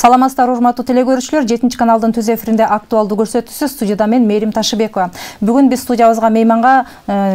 Саламатсыздар урматтуу телекөрүүчүлөр, 7 каналдын түз эфиринде актуалдуу көрсөтүүсү, студияда мен Мээрим Ташыбекова. Бүгүн биз студиябызга мейманга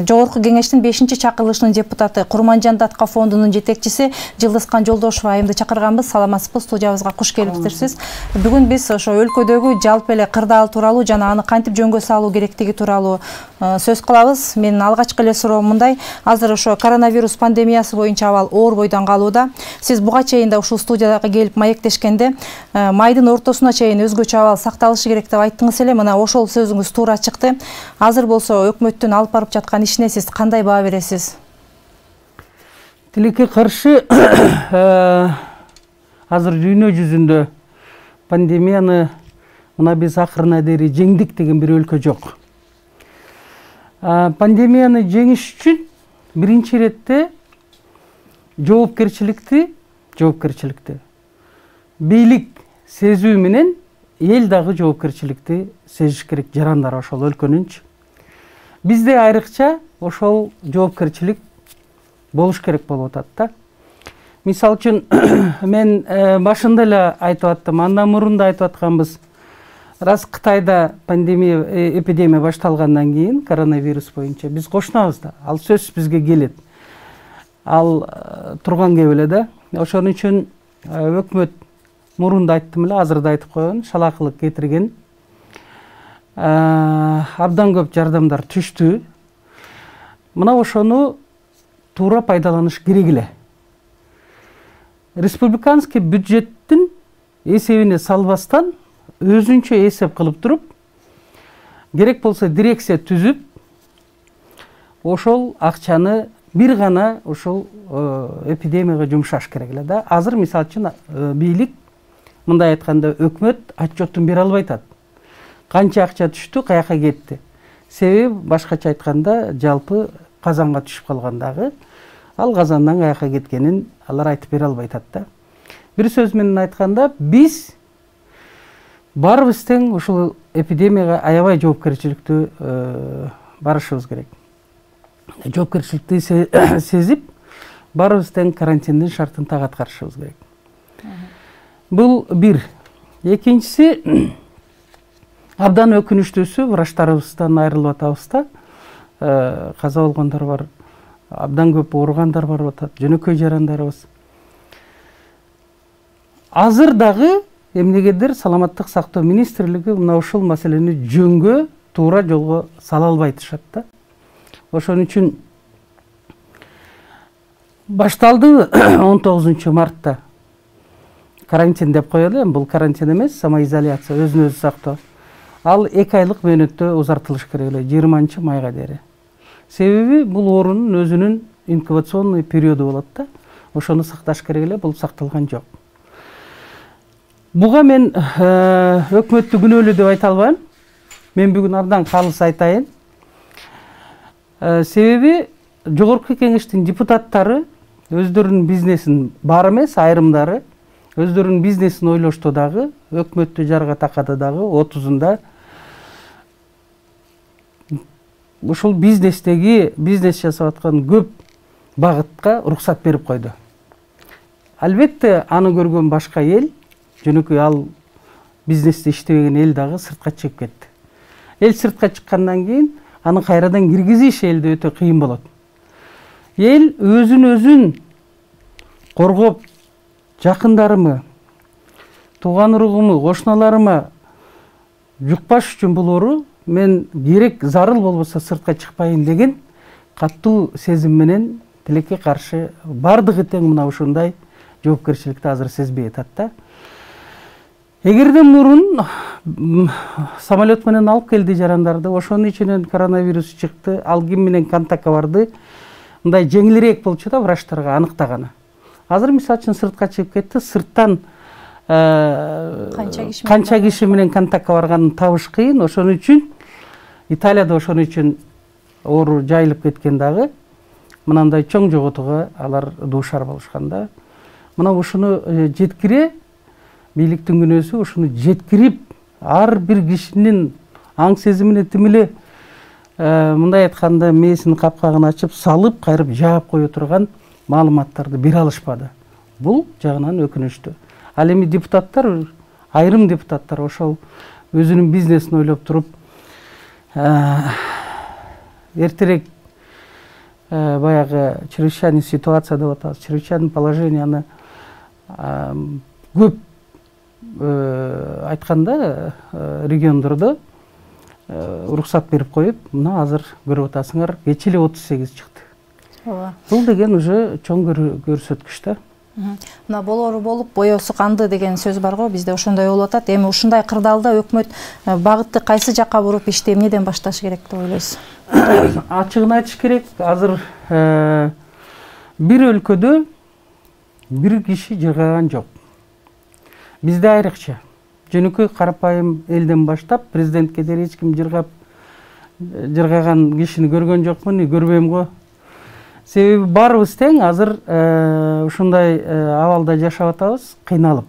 Жогорку Кеңештин 5-чакырылышынын депутаты, Курманжан Датка фондунун жетекчиси Жылдызкан Жолдошева айымды чакырганбыз. Саламатсызбы, студиябызга куш келипсиз. Бүгүн биз ошо өлкөдөгү жалпы эле кырдаал тууралуу жана аны кантип жөнгө салуу керектиги тууралуу сөз кылабыз. Менин алгачкы эле суроом мындай: азыр ошо коронавирус пандемиясы боюнча абал оор бойдон калууда. Сиз буга чейин да ушул студияга келип маектешкенде майдын ортосуна чейин өзгөчө абал сакталышы керек деп айттыңыз эле. Мына ошол сөзүңүз туура чыкты. Азыр болсо өкмөттүн алып барып жаткан ишине сиз кандай баа бересиз? Тилекке каршы азыр дүйнө жүзүндө пандемияны мына биз акырына дейин жеңдик деген бир өлкө жок. Пандемияны жеңиш үчүн биринчи иретте жоопкерчиликти бийлик сезүү менен эл дагы жоопкерчиликти сезиш керек, жарандар ошол өлкөнүнчү. Бизде айрыкча ошол жоопкерчилик болуш керек болуп атат да. Мисалы үчүн мен башында эле айтып аттым, андан мурун да айтып атканбыз. Раз Кытайда эпидемия башталгандан кийин коронавирус боюнча биз кошунабыз да, ал сөзсүз бизге келет. Ал турган кеп эле да. Ошон үчүн өкмөт мурун да айттым эле, азыр да айтып койгон, шалакылык кетирген. Абдан көп жардамдар түштү. Мына ошону туура пайдаланыш керек эле. Республиканский бюджеттин эсебине салбастан өзүнчө эсеп кылып туруп, керек болсо дирекция түзүп, ошол акчаны бир гана ошол эпидемияга жумшаш керек эле да. Азыр мисалы үчүн бийлик, мындай айтканда өкмөт отчетун бере албай атат. Канча акча түштү, каяка кетти. Себеби башкача айтканда жалпы казанга түшүп калгандагы, ал казандан каяка кеткенин алар айтып бере албай атат да. Бир сөз менен айтканда, биз баарыбыз тең ушул эпидемияга аябай жоопкерчиликтүү барышыбыз керек. Жоопкерчиликти сезип, баарыбыз тең карантиндин шартын так аткарышыбыз керек. Бул бир. Экинчиси, абдан өкүнүчтүүсү, врачтарыбыздан айрылып атабыз да. Каза болгондор бар, абдан көп ооругандар бар атат, жөнөкөй жарандарыбыз. Азыр дагы эмнегедир Саламаттык сактоо министрлиги мына ушул маселени жөнгө, туура жолго сала албай атышат да. Ошон үчүн башталды 19 мартта карантин деп коелу. Бул карантин эмес, самоизоляция, өзүн өзү сактоо. Ал 2 айлык мөөнөттө узартылыш керек эле, 20 майга дейин. Себеби бул оорунун өзүнүн инкубационный периоду болот да. Ошону сакташ керек эле, бул сакталган жок. Буга мен өкмөттү күнөөлүү деп айта албайм. Мен бүгүн абдан калыс айтайын. Себеби Жогорку Кеңештин депутаттары өздөрүнүн бизнесин, бар эмес, айрымдары өздөрүнүн бизнесин ойлошту дагы, өкмөттү жарга такады дагы, 30-унда ушул бизнес жасап аткан көп багытка уруксат берип койду. Албетте аны көргөн башка эл, жөнөкөй ал бизнесте иштебеген эл дагы сыртка чыгып кетти. Эл сыртка чыккандан кийин аны кайрадан киргизиш элде өтө кыйын болот. Эл өзүн коргоп, жакындарымы, тууган уругуму, кошуналарыма жукпаш үчүн бул оору, мен керек зарыл болбосо сыртка чыкпайын деген катуу сезим менен тилекке каршы бардыгы тең мына ушундай жоопкерчиликти азыр сезбей атат да. Эгерде мурун самолет менен алып келди жарандарды, ошонун ичинен коронавирус чыкты, ал ким менен контактка барды, мындай жеңилирээк болчу да врачтарга аныктаганы. Азыр мисалы үчүн сыртка чыгып кетти, сырттан канча киши менен контактка барганын табыш кыйын. Ошон үчүн Италияда ошон үчүн оору жайылып кеткен дагы, мынандай чоң жоготууга алар дуушар болушкан да. Мына ушуну жеткире, бийликтин күнөөсү ушуну жеткирип, ар бир кишинин аң сезимине тим эле мындай айтканда мээсинин капкагын ачып, салып, кайрып жаап кое турган маалыматтарды бере алышпады. Бул жагынан өкүнүчтүү. Ал эми депутаттар айрым депутаттар ошол өзүнүн бизнесин ойлоп туруп эртерээк баягы чрезвычайный ситуация деп атабыз, чрезвычайный положенияны көп айтканда региондордо уруксат берип коюп, мына азыр көрүп атасыңар, кечээ эле 38 чыкты. Ооба. Бул деген уже чоң көрсөткүч да. Мына болору болуп, боёсу канды деген сөз бар го, бизде ошондой болуп атат. Эми ушундай кырдаалда өкмөт багытты кайсы жакка буруп иштеп, эмнеден башташ керек деп ойлойсуз? Ачыгын айтыш керек, азыр бир өлкөдө бир киши жыргаган жок. Бизде айрыкча жөнөкөй карапайым элден баштап президентке дейин эч ким жыргаган кишини көргөн жокмун, көрбөйм го. Себеби баарыбыз тең азыр ушундай абалда жашап атабыз, кыйналып.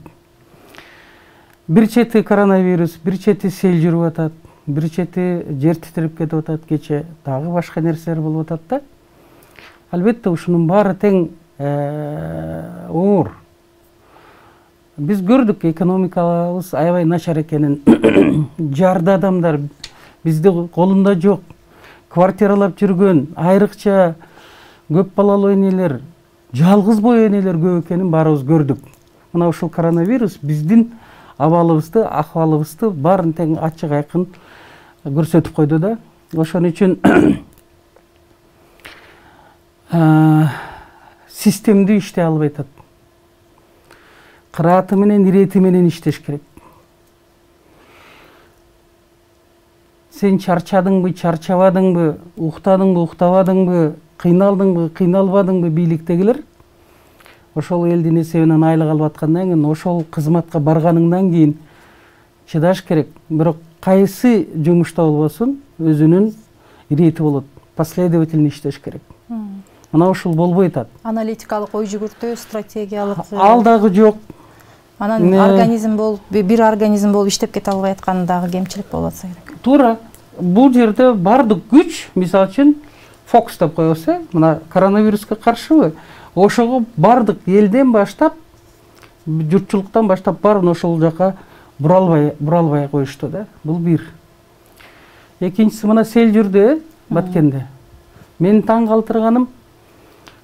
Бир чети коронавирус, бир чети сел жүрүп атат, бир чети жер титирип кетип атат, кече дагы башка нерселер болуп атат да. Албетте ушунун баары тең оор. Биз көрдүк экономикабыз аябай начар экенин. Жарды адамдар бизде колунда жок. Квартиралап жүргөн, айрыкча көп балалуу энелер, жалгыз бой энелер көп экенин баарыбыз көрдүк. Мына ушул коронавирус биздин абалыбызды, акыбалыбызды баарын тең ачык айкын көрсөтүп койду да. Ошон үчүн системдүү иштей албай атат. Кырааты менен, ирети менен иштеш керек. Сен чарчадыңбы, чарчабадыңбы, уктадыңбы, уктабадыңбы, кыйналдыңбы, кыйналбадыңбы бийликтегилер? Ошол элдин эсебинен айлык алып аткандан кийин, ошол кызматка барганыңдан кийин чыдаш керек. Бирок кайсы жумушта болбосун, өзүнүн ирети болот. Последовательно иштеш керек. Мына ушул болбой атат. Аналитикалык ой жүгүртүү, стратегиялык ал дагы жок. Анан организм болуп, бир организм болуп иштеп кете албай атканы дагы кемчилик болуп атса керек. Туура. Бул жерде бардык күч, мисалы үчүн фокус деп коебуз, мына коронавируска каршыбы? Ошого бардык элден баштап, журтчулуктан баштап баарын ошол жака буралбай коюшту да. Бул бир. Экинчиси мына сел жүрдү, Баткенде. Мени таң калтырганым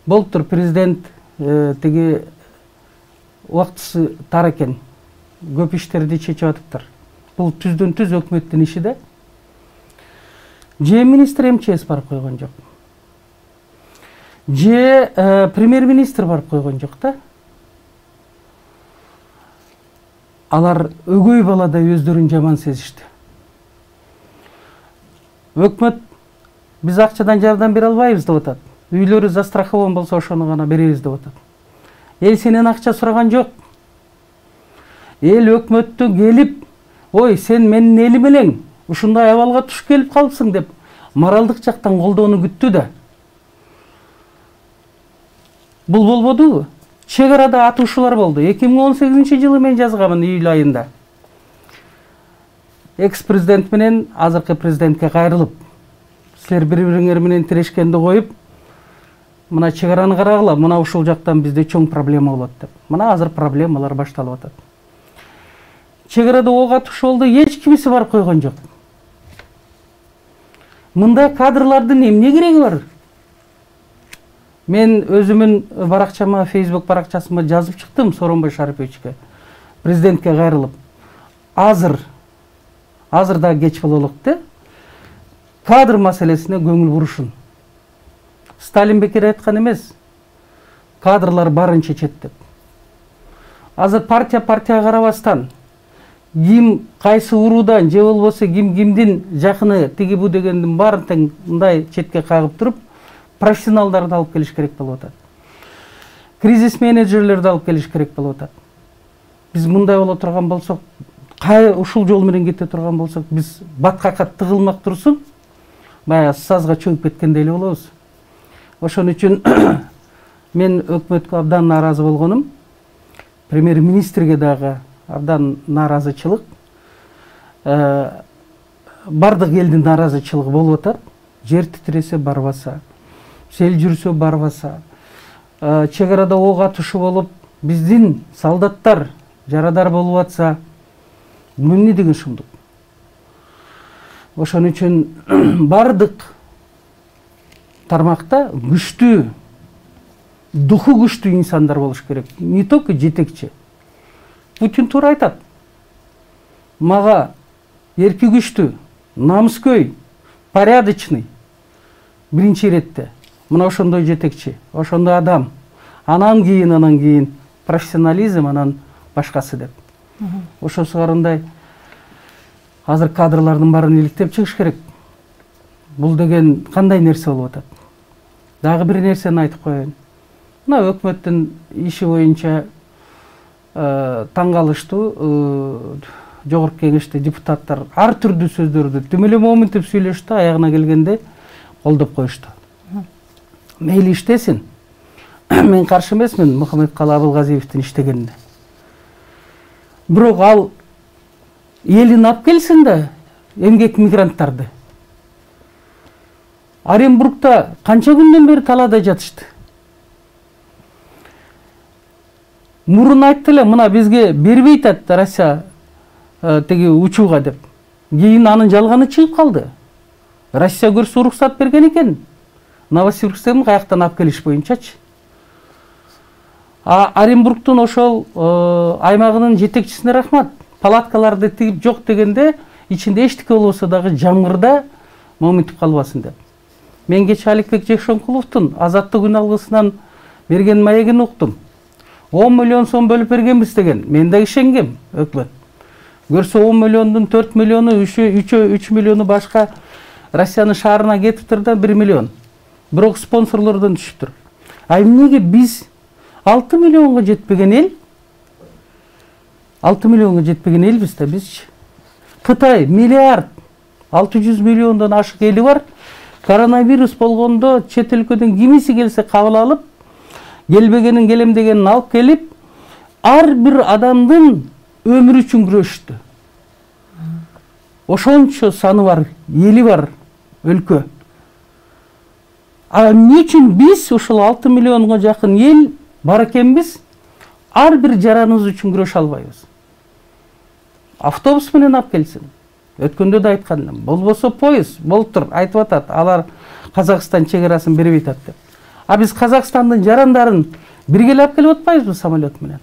болуптур, президент тиги убактысы тар экен. Көп иштерди чечип атыптыр. Бул түздөн түз өкмөттүн иши да. Же министр МЧС барып койгон жок. Же премьер-министр барып койгон жок да. Алар өгөй баладай өздөрүн жаман сезишти. Өкмөт биз акчадан жардам бере албайбыз деп атат. Үйлөрү застрахован болсо ошону гана беребиз деп атат. Эл сенен акча сураган жок. Эл өкмөттө келип, ой, сен менин элим элең, ушундай абалга туш келип калыпсың деп моралдык жактан колдоону күттү да. Бул болбодубу? Чек арада атышуулар болду. 2018-жылы мен жазганмын июль айында. Экс-президент менен азыркы президентке кайрылып, силер бири-бириңер менен тирешкенди коюп, мына чек араны карагыла, мына ушул жактан бизде чоң проблема болот деп. Мына азыр проблемалар башталып атат. Чек арада ок атышуу болду, эч кимиси барып койгон жок. Мындай кадрлардын эмне кереги бар? Мен өзүмүн баракчама, Facebook баракчасыма жазып чыктым Сооронбай Шариповичке, президентке кайрылып. Азыр да кеч бололук да. Кадр маселесине көңүл бурушун. Сталин бекер айткан эмес. Кадрлар барын чечет деп. Азыр партия карабастан, ким кайсы уруудан, же болбосо кимдин жакыны тиги бу дегендин баарын тең мындай четке кагып туруп, профессионалдарды алып келиш керек болуп атат. Кризис менеджерлерди алып келиш керек болуп атат. Биз мындай боло турган болсок, ушул жол менен кете турган болсок, биз баткакка тыгылмак турсун, баягы сазга чөгүп кеткендей эле болобуз. Ошон үчүн мен өкмөткө абдан нааразы болгонум. Премьер-министрге дагы абдан нааразычылык. Бардык элдин нааразычылыгы болуп атат. Жер титиресе барбаса, сел жүрсө барбаса, чек арада ок атышуу болуп, биздин солдаттар жарадар болуп атса, эмне деген шумдук. Ошон үчүн бардык тармакта күчтүү, духу күчтүү инсандар болуш керек. Не только жетекчи. Путин туура айтат. Мага эрки күчтүү, намыскөй, порядочный биринчи иретте мына ошондой жетекчи, ошондой адам. Анан кийин профессионализм, анан башкасы деп. Ошосу карындай азыр кадрлардын баарын иликтеп чыгыш керек. Бул деген кандай нерсе болуп атат? Дагы бир нерсени айтып коеюн. Мына өкмөттүн иши боюнча таң калыштуу жогорку кеңеште депутаттар ар түрдүү сөздөрдү түм эле моминтип сүйлөштү, аягына келгенде колдоп коюшту. Мейли иштесин. Мен каршы эмесмин Мухаммедкалы Абылгазиевдин иштегенине. Бирок ал элин алып келсин да эмгек мигранттарды. Оренбургда канча күндөн бери талаада жатышты. Мурун айтты эле, мына бизге бербейт атты Россия теги учууга деп. Кийин анын жалганы чыгып калды. Россия көрсө уруксат берген экен. Новосибирсктен каяктан алып келиш боюнчачы. Оренбургдун ошол аймагынын жетекчисине рахмат. Палаткаларды тигип жок дегенде ичинде эчтеке болбосо дагы жамгырда моминтип калбасын деп. Мен кечээ Аликбек Жекшенкуловдун азаттык күн алгысынан берген маегин уктум. 10 миллион сом бөлүп бергенбиз деген. Мен да ишенгем, өкмөт. Көрсө 10 миллиондун 4 миллиону 3 миллиону башка Россиянын шаарына кетиптир да 1 миллион. Бирок спонсорлордон түшүптүр. А эмнеге биз 6 миллионго жетпеген эл? 6 миллионго жетпеген элбиз да бизчи. Кытай миллиард 600 миллиондон ашык эли бар. Коронавирус болгондо чет өлкөдөн кимиси келсе кабыл алып, келбегенин келем дегенин алып келип, ар бир адамдын өмүрү үчүн күрөштү. Ошончо саны бар, эли бар өлкө. А эмне үчүн биз ошол 6 миллионго жакын эл бар экенбиз, ар бир жараныбыз үчүн күрөшө албайбыз? Автобус менен алып келсин. Өткөндө да айткан элем. Болбосо поезд болуп тур, айтып атат. Алар Казакстан чегарасын бербейт деп. А биз Казакстандын жарандарын бирге алып келип атпайбызбы самолет менен?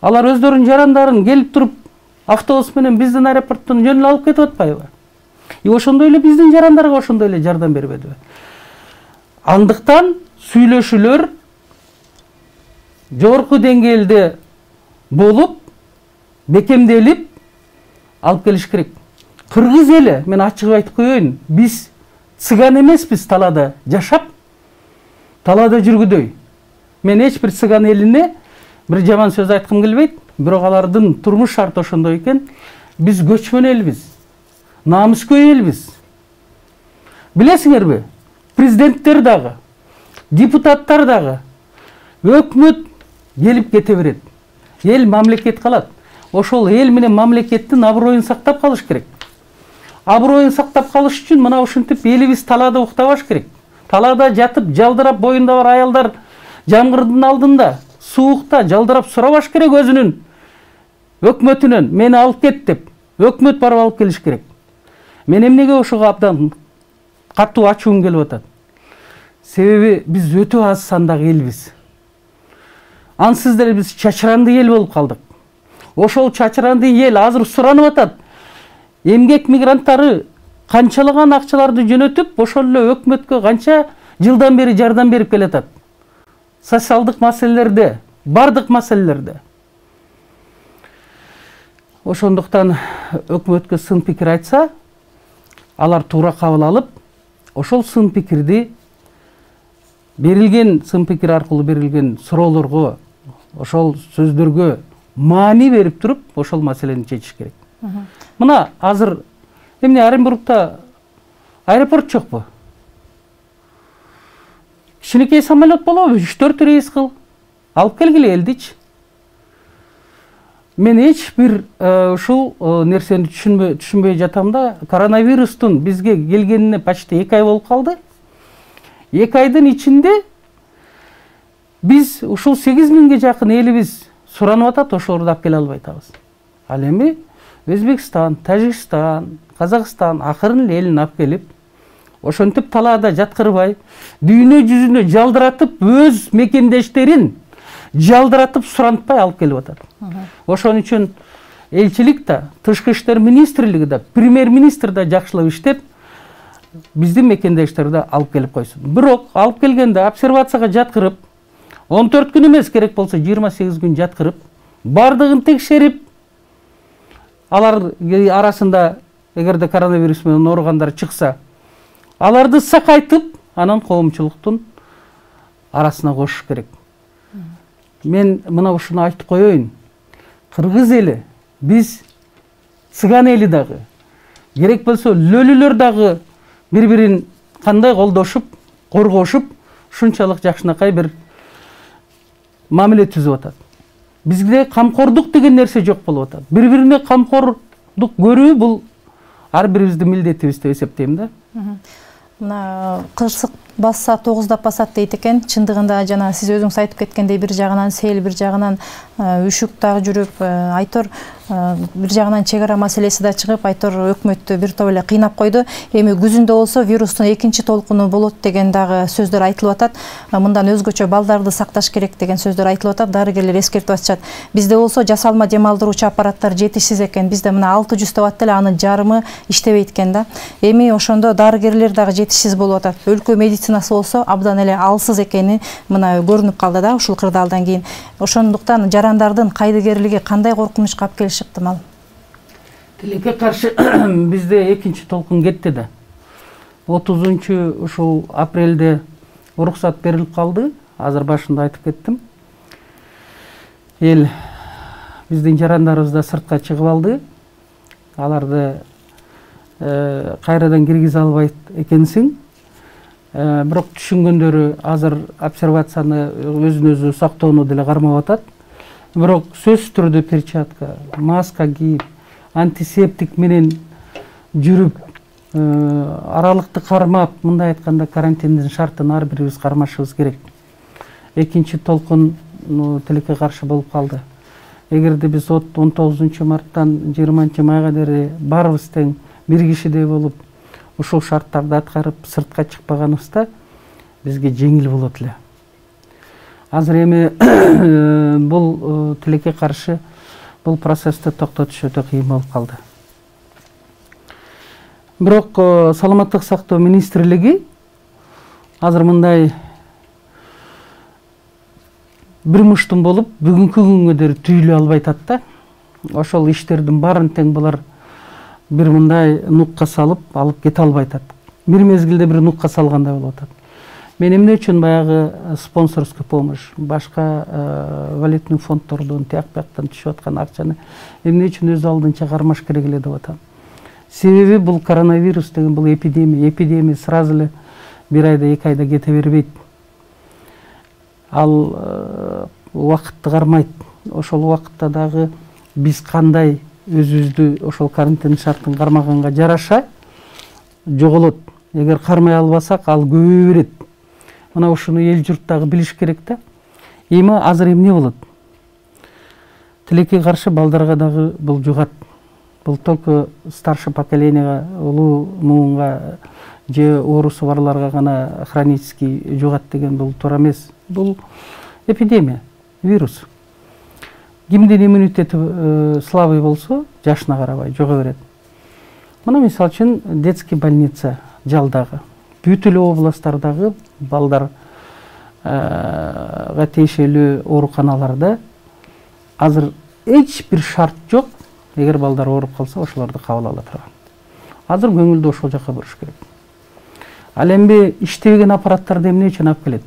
Алар өздөрүнүн жарандарын келип туруп автобус менен биздин аэропорттон жөн алып кетип атпайбы? Ошондой эле биздин жарандарга ошондой эле жардам бербедиби? Андыктан сүйлөшүүлөр жогорку деңгээлде болуп, бекемделип алып келиш керек. Кыргыз эли, мен ачык айтып коеюн, биз цыган эмеспиз талаада жашап, талаада жүргүдөй. Мен эч бир цыган элине бир жаман сөз айткым келбейт, бирок алардын турмуш шарты ошондой экен. Биз көчмөн элбиз, намыскөй элбиз. Билесиңерби? Президенттер дагы, депутаттар дагы, өкмөт келип кете берет. Эл мамлекет калат. Ошол эл менен мамлекеттин аброюн сактап калыш керек. Аброюн сактап калыш үчүн мына ушинтип элибиз талаада уктабаш керек. Талаада жатып, жалдырап, боюнда бар аялдар жамгырдын алдында, суукта жалдырап сурабаш керек өзүнүн өкмөтүнөн. Мени алып кет деп, өкмөт барып алып келиш керек. Мен эмнеге ошого абдан катуу ачуум келип атат? Себеби биз өтө аз сандагы элбиз. Ансыз деле биз чачыранды эл болуп калдык. Ошол чачыранды эл азыр суранып атат. Эмгек мигранттары канчалаган акчаларды жөнөтүп, ошол эле өкмөткө канча жылдан бери жардам берип келатат. Социалдык маселелерде, бардык маселелерде. Ошондуктан өкмөткө сын пикир айтса, алар туура кабыл алып, ошол сын пикирди берилген сын пикир аркылуу берилген суроолорго, ошол сөздөргө маани берип туруп, ошол маселени чечиш керек. Мына азыр эмне Оренбургда аэропорт жокпу? Кичинекей самолет болобу? 3-4 рейс кыл. Алып келгиле элдичи. Мен эч бир ушул нерсени түшүнбөй жатам да, коронавирустун бизге келгенине почти 2 ай болуп калды. 2 айдын ичинде биз ушул 8 миңге жакын элибиз суранып атат, ошолорду алып келе албай атабыз. Ал эми Өзбекстан, Тажикстан, Казакстан акырын элин алып келип, ошентип талаада жаткырбай, дүйнө жүзүнө жалдыратып, өз мекендештерин жалдыратып сурантпай алып келип атат. Ошон үчүн элчилик да, тышкы иштер министрлиги да, премьер-министр да жакшылап иштеп, биздин мекендештерди алып келип койсун. Бирок алып келгенде обсервацияга жаткырып, 14 күн эмес, керек болсо 28 күн жаткырып, бардыгын текшерип, алар арасында эгерде коронавирус менен ооругандар чыкса, аларды сакайтып, анан коомчулуктун арасына кошуш керек. Мен мына ушуну айтып коеюн. Кыргыз эли, биз цыган эли дагы, керек болсо лөлүлөр дагы бири-бирин кандай колдошуп, коргошуп, ушунчалык жакшынакай бир мамиле түзүп атат. Бизде камкордук деген нерсе жок болуп атат. Бири-бирине камкордук көрүү бул ар бирибиздин милдетибиз деп эсептейм да. Мына кырсык басса 9-дап басат дейт экен. Чындыгында жана сиз өзүңүз айтып кеткендей, бир жагынан сел, бир жагынан үшүк дагы жүрүп, айтор бир жагынан чек ара маселеси да чыгып, айтор өкмөттү бир топ эле кыйнап койду. Эми күзүндө болсо вирустун экинчи толкуну болот деген дагы сөздөр айтылып атат. Мындан өзгөчө балдарды сакташ керек деген сөздөр айтылып атат. Дарыгерлер эскертип атышат. Бизде болсо жасалма дем алдыруучу аппараттар жетишсиз экен. Бизде мына 600 деп атты эле, анын жарымы иштебейт экен да. Эми ошондо дарыгерлер дагы жетишсиз болуп атат. Өлкө медицинасы болсо абдан эле алсыз экени мына көрүнүп калды да ушул кырдаалдан кийин. Ошондуктан жарандардын кайдыгерлиги кандай коркунучка алып келиши ыктымал? Тилекке каршы бизде экинчи толкун кетти да. 30 ушул апрелде уруксат берилип калды. Азыр башында айтып кеттим. Эл биздин жарандарыбыз да сыртка чыгып алды. Аларды кайрадан киргизе албайт экенсиң. Бирок түшүнгөндөрү азыр обсервацияны өзүн өзү сактоону деле кармап атат. Бирок сөзсүз түрдө перчатка, маска кийип, антисептик менен жүрүп, аралыкты кармап, мындай айтканда карантиндин шартын ар бирибиз кармашыбыз керек. Экинчи толкун тилекке каршы болуп калды. Эгерде биз 19 марттан 20 майга дери баарыбыз тең бир кишидей болуп, ушул шарттарды аткарып сыртка чыкпаганыбызда бизге жеңил болот эле. Азыр эми бул тилекке каршы бул процессти токтотуш өтө кыйын болуп калды. Бирок саламаттык сактоо министрлиги азыр мындай бир муштум болуп бүгүнкү күнгө дери түйүлө албай атат да. Ошол иштердин баарын тең булар бир мындай нукка салып алып кете албай атат. Бир мезгилде бир нукка салгандай болуп атат. Мен эмне үчүн баягы спонсорский помощь, башка валютный фонддордон тияк-бияктан түшүп аткан акчаны эмне үчүн өз алдынча кармаш керек эле деп атам. Себеби бул коронавирус деген бул эпидемия. Эпидемия сразу эле бир айда, 2 айда кете бербейт. Ал убакытты кармайт. Ошол убакытта дагы биз кандай өзүбүздү ошол карантин шартын кармаганга жараша жоголот. Эгер кармай албасак, ал көбөйө берет. Мына ушуну эл журт дагы билиш керек да. Эми азыр эмне болот? Тилекке каршы балдарга дагы бул жугат. Бул только старший поколениега, улуу муунга же оорусу барларга гана хронический жугат деген бул туура эмес. Бул эпидемия, вирус. Кимдин иммунитети слабый болсо, жашына карабай жого берет. Мына мисалы үчүн детский больница жалдагы, бүт эле областтардагы балдарга тиешелүү ооруканаларда азыр эч бир шарт жок. Эгер балдар ооруп калса, ошолорду кабыл ала турган. Азыр көңүлдү ошол жака буруш керек. Ал эми иштебеген аппараттарды эмне үчүн алып келет?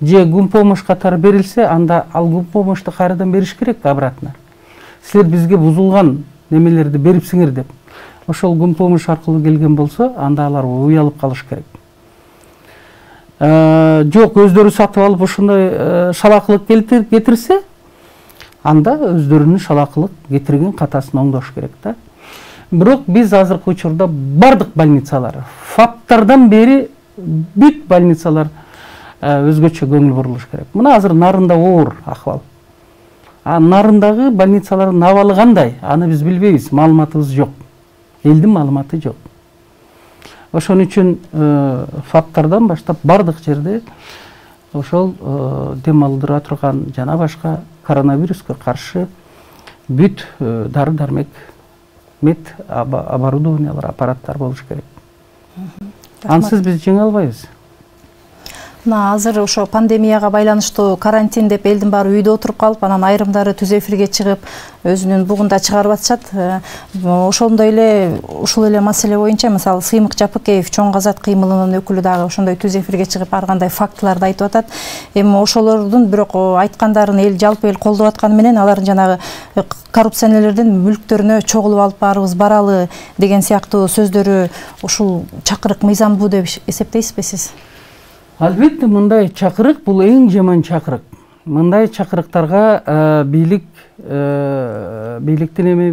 Же гум помощь катары берилсе, анда ал гум помощьту кайрадан бериш керек обратно. Силер бизге бузулган немелерди берипсиңер деп. Ошол гум помощь аркылуу келген болсо, анда алар уялып калыш керек. Жок, өздөрү сатып алып ушундай шалакылык кетирсе, анда өздөрүнүн шалакылык кетирген катасын оңдош керек да. Бирок биз азыркы учурда бардык больницалар, ФАПтардан бери бүт больницалар өзгөчө көңүл бурулуш керек. Мына азыр Нарында оор акыбал. нарындагы больницалардын абалы кандай? Аны биз билбейбиз, маалыматыбыз жок. Элдин маалыматы жок. Ошон үчүн фактардан баштап бардык жерде ошол дем алдыра турган жана башка коронавируска каршы бүт дары-дармек, мед оборудованиялар, аппараттар болуш керек. Ансыз биз жеңе албайбыз. Мына азыр ошо пандемияга байланыштуу карантин деп элдин баары үйдө отуруп калып, анан айрымдары түз эфирге чыгып, өзүнүн бугунда чыгарып атышат. Ошондой эле ушул эле маселе боюнча, мисалы Сыймык Жапыкеев чоң казат кыймылынын өкүлү дагы ошондой түз эфирге чыгып ар кандай фактыларды айтып атат. Эми ошолордун бирок айткандарын эл жалпы эл колдоп атканы менен алардын жанагы коррупционерлердин мүлктөрүнө чогулуп алып баарыбыз баралы деген сыяктуу сөздөрү ушул чакырык мыйзамдуу деп эсептейсизби сиз? Албетте, мындай чакырык бул эң жаман чакырык. Мындай чакырыктарга бийликтин эми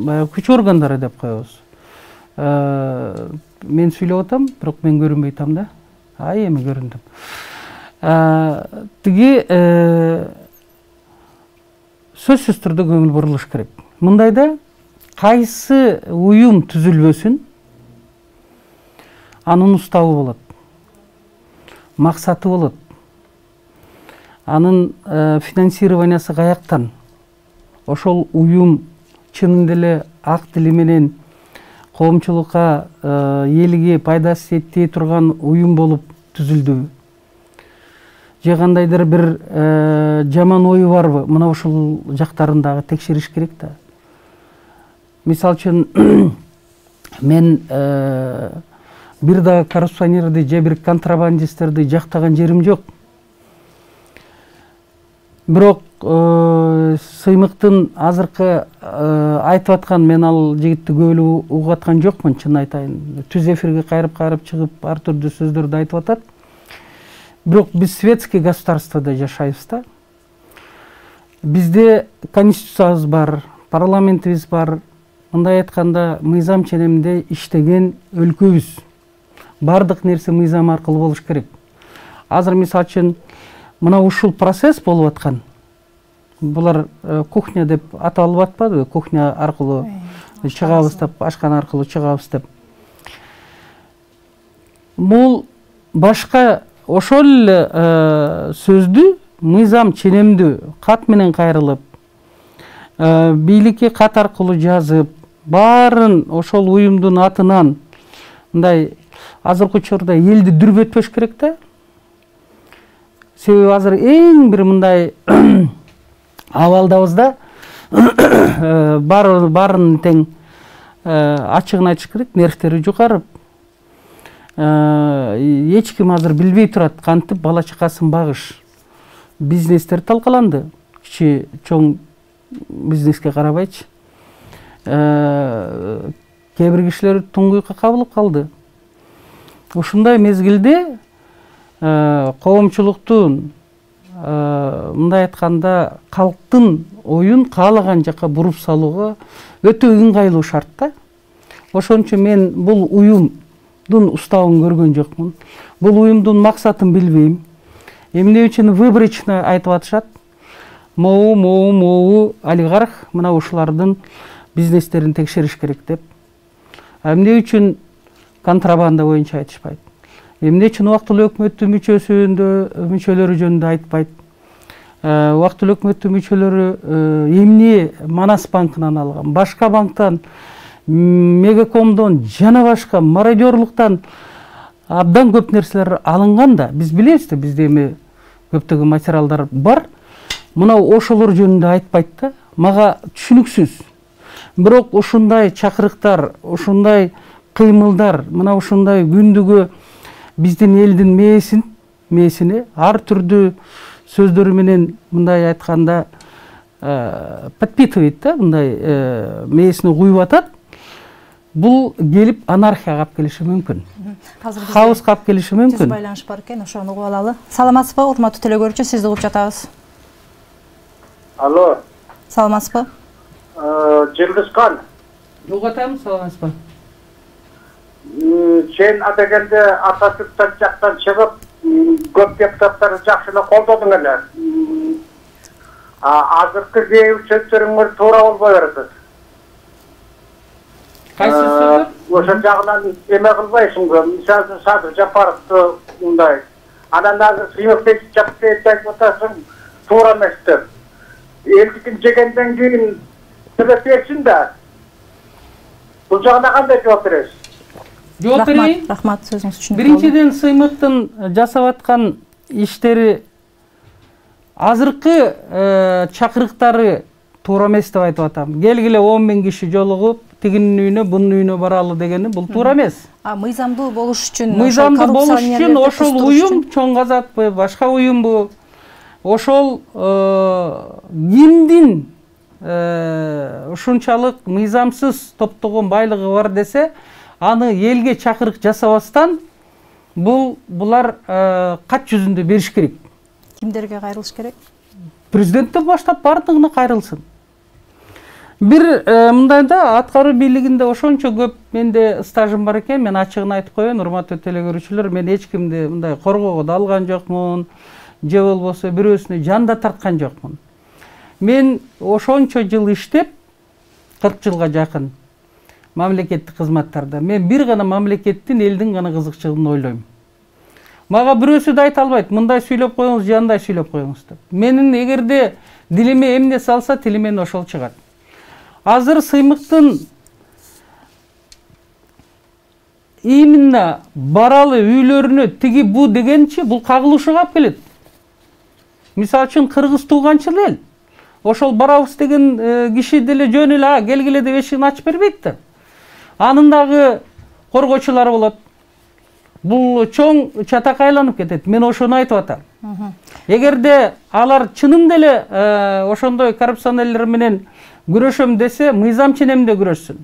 баягы күч органдары деп коебуз. Мен сүйлөп атам, бирок мен көрүнбөй атам да. Эми көрүндүм. Тиги сөзсүз түрдө көңүл бурулуш керек. Мындайда кайсы уюм түзүлбөсүн, анын уставы болот. Максаты болот. Анын финансированиясы каяктан? Ошол уюм чынында эле ак тили менен коомчулукка, элге пайдасы жетпей турган уюм болуп түзүлдүбү? Же кандайдыр бир жаман ою барбы? Мына ушул жактарын дагы текшериш керек да. Мисалы үчүн мен бир дагы коррупционерди же бир контрабандисттерди жактаган жерим жок. Бирок Сыймыктын азыркы айтып аткан, мен ал жигитти көп эле угуп аткан жокмун, чын айтайын. Түз эфирге кайрып чыгып ар түрдүү сөздөрдү айтып атат. Бирок биз светский государствода жашайбыз да. Бизде конституциябыз бар, парламентибиз бар. Мындай айтканда, мыйзам ченеминде иштеген өлкөбүз. Бардык нерсе мыйзам аркылуу болуш керек. Азыр мисалы үчүн мына ушул процесс болуп аткан. Булар кухня деп аталып атпадыбы? Кухня аркылуу чыгабыз деп, ашкана аркылуу чыгабыз деп. Бул башка ошол эле сөздү мыйзам ченемдүү кат менен кайрылып, бийликке кат аркылуу жазып, баарын ошол уюмдун атынан мындай азыркы учурда элди дүрбөтпөш керек да. Себеби азыр эң бир мындай абалдабыз да. Баарын тең ачыгын айтыш керек, нервтери жукарып. Эч ким азыр билбей турат кантип бала чакасын багыш. Бизнестер талкаланды. Кичи чоң бизнеске карабайчы. Кээ бир кишилер туңгуйукка кабылып калды. Ушундай мезгилде коомчулуктун мындай айтканда калктын оюн каалаган жакка буруп салууга өтө ыңгайлуу шарт да. Ошон үчүн мен бул уюмдун уставын көргөн жокмун. Бул уюмдун максатын билбейм. Эмне үчүн выборочно айтып атышат? Могу олигарх мына ушулардын бизнестерин текшериш керек деп. Эмне үчүн контрабанда боюнча айтышпайт? Эмне үчүн убактылуу өкмөттүн мүчөлөрү жөнүндө айтпайт? Убактылуу өкмөттүн мүчөлөрү эмне Манас банкынан алган, башка банктан, Мегакомдон жана башка мародерлуктан абдан көп нерселер алынган да. Биз билебиз да, бизде эми көптөгөн материалдар бар. Мына ошолор жөнүндө айтпайт да. Мага түшүнүксүз. Бирок ушундай чакырыктар, ушундай кыймылдар, мына ушундай күндүгө биздин элдин мээсине ар түрдүү сөздөрү менен мындай айтканда подпитывает да, мындай мээсине куюп атат. Бул келип анархияга алып келиши мүмкүн. Хаоска алып келиши мүмкүн. Түз байланыш бар экен, ошону угуп алалы. Саламатсызбы, урматтуу телекөрүүчү, сизди угуп жатабыз. Алло. Саламатсызбы? Жылдызкан. Угуп атам, саламатсызбы? Сен адегенде Ататүрктөн жактан чыгып, көп депутаттарды жакшы эле колдодуң эле. азыркы кээ бир сөздөрүңөр туура болбой атат. Кайсы сөздөр? Ошол жагынан эме кылбайсыңбы? Мисалы Садыр Жапаровду мындай. Анан азыр сыймыкты жапты айтып атасың, туура эмес деп. Элдикин жегенден кийин себеп берсин да. Бул жагына кандай жооп бересиз? Жооп берейин. Рахмат, сөзүңүз үчүн. Биринчиден, сыймыктын жасап аткан иштери азыркы чакырыктары туура эмес деп айтып атам. Келгиле 10 000 киши жолугуп, тигинин үйүнө, бунун үйүнө баралы дегени бул туура эмес. Мыйзамдуу болуш үчүн, ошол уюм чоң казатпы, башка уюмбу, ошол кимдин ушунчалык мыйзамсыз топтогон байлыгы бар десе, аны элге чакырык жасабастан булар кат жүзүндө бериш керек. Кимдерге кайрылыш керек? Президенттен баштап бардыгына кайрылсын. Бир мындайда аткаруу бийлигинде ошончо көп менде стажым бар экен, мен ачыгын айтып коеюн, урматтуу телекөрүүчүлөр, мен эч кимди мындай коргоого да алган жокмун, же болбосо бирөөсүнө жан да тарткан жокмун. Мен ошончо жыл иштеп, 40 жылга жакын мамлекеттик кызматтарда, мен бир гана мамлекеттин, элдин гана кызыкчылыгын ойлойм. Мага бирөөсү да айта албайт, мындай сүйлөп коюңуз, жандай сүйлөп коюңуз деп. Менин эгерде дилиме эмне салса, тилимен ошол чыгат. Азыр сыймыктын именно баралы үйлөрүнө тиги бу дегенчи, бул кагылышууга алып келет. Мисалы үчүн кыргыз тууганчыл эл. Ошол барабыз деген киши деле жөн эле келгиле деп эшигин ачып бербейт да. Анын дагы коргоочулары болот. Бул чоң чатакка айланып кетет. Мен ошону айтып атам. Эгерде алар чынын деле ошондой коррупционерлер менен күрөшөм десе, мыйзам ченемде күрөшсүн.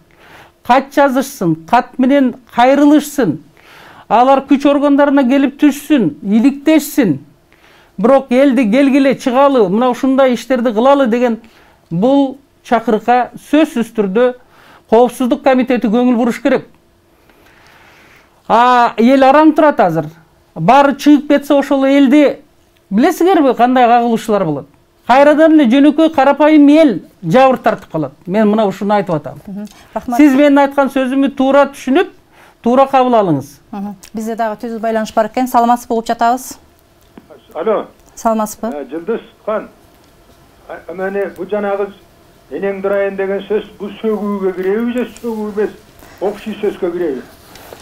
Кат жазышсын, кат менен кайрылышсын. Алар күч органдарына келип түшсүн, иликтешсин. Бирок элди келгиле чыгалы, мына ушундай иштерди кылалы деген бул чакырыкка сөзсүз түрдө Коопсуздук комитети көңүл буруш керек. Эл араң турат азыр. Баары чыгып кетсе ошол элди билесиңерби кандай кагылышуулар болот? Кайрадан эле жөнөкөй карапайым эл жабыр тартып калат. Мен мына ушуну айтып атам. Сиз менин айткан сөзүмдү туура түшүнүп, туура кабыл алыңыз. Бизде дагы түзүү байланыш бар экен. Саламатсызбы, угуп жатабыз. Алло. Саламатсызбы? Жылдыз хан. Мени бу жанагы энең дырайын деген сөз бул сөгүүгө киреби же сөгүү эмес, общий сөзгө киреби?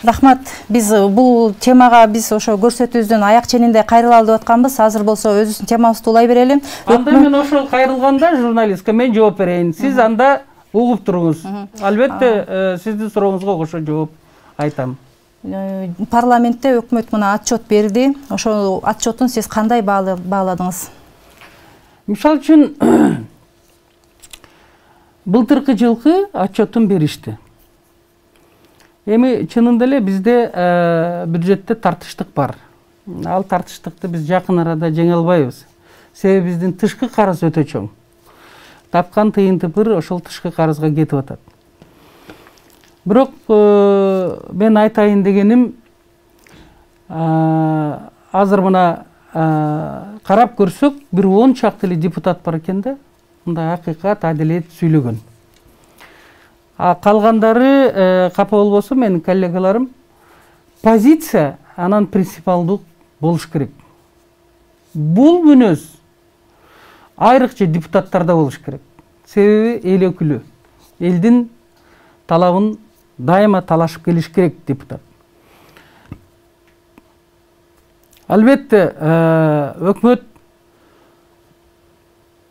Рахмат. Биз бул темага ошо көрсөтүүбүздүн аяк ченинде кайрылалы деп атканбыз. Азыр болсо өзүбүздүн темабызды улай берели. Анда мен ошол кайрылганда журналистке мен жооп берейин. Сиз анда угуп туруңуз. Албетте сиздин сурооңузга кошо жооп айтам. Парламентте өкмөт мына отчет берди. Ошол отчетун сиз кандай бааладыңыз? Мисалы үчүн былтыркы жылкы отчетун беришти. Эми чынында эле бизде бюджетте тартыштык бар. Ал тартыштыкты биз жакын арада жеңе албайбыз. Себеби биздин тышкы карыз өтө чоң. Тапкан тыйын тыпыр ошол тышкы карызга кетип атат. Бирок мен айтайын дегеним, азыр мына карап көрсөк, бир 10 чакты эле депутат бар экен да, мындай акыйкат, адилет сүйлөгөн. Калгандары капа болбосо менин коллегаларым, позиция анан принципиалдуу болуш керек. Бул мүнөз айрыкча депутаттарда болуш керек. Себеби эл өкүлү, элдин талабын дайыма талашып келиш керек депутат. Албетте, өкмөт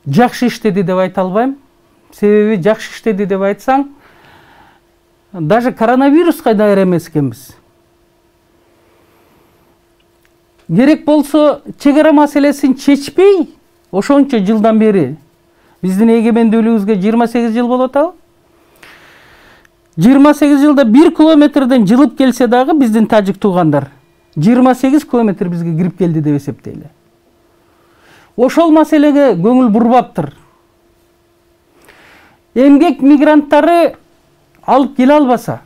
жакшы иштеди деп айта албайм. Себеби жакшы иштеди деп айтсаң, даже коронавируска даяр эмес экенбиз. Керек болсо чек-ара маселесин чечпей, ошончо жылдан бери биздин эгемендүүлүгүбүзгө 28 жыл болуп атабы? 28 жылда 1 километрден жылып келсе дагы биздин тажик туугандар 28 километр бизге кирип келди деп эсептейли. Ошол маселеге көңүл бурбаптыр. Эмгек мигранттары алып келе албаса,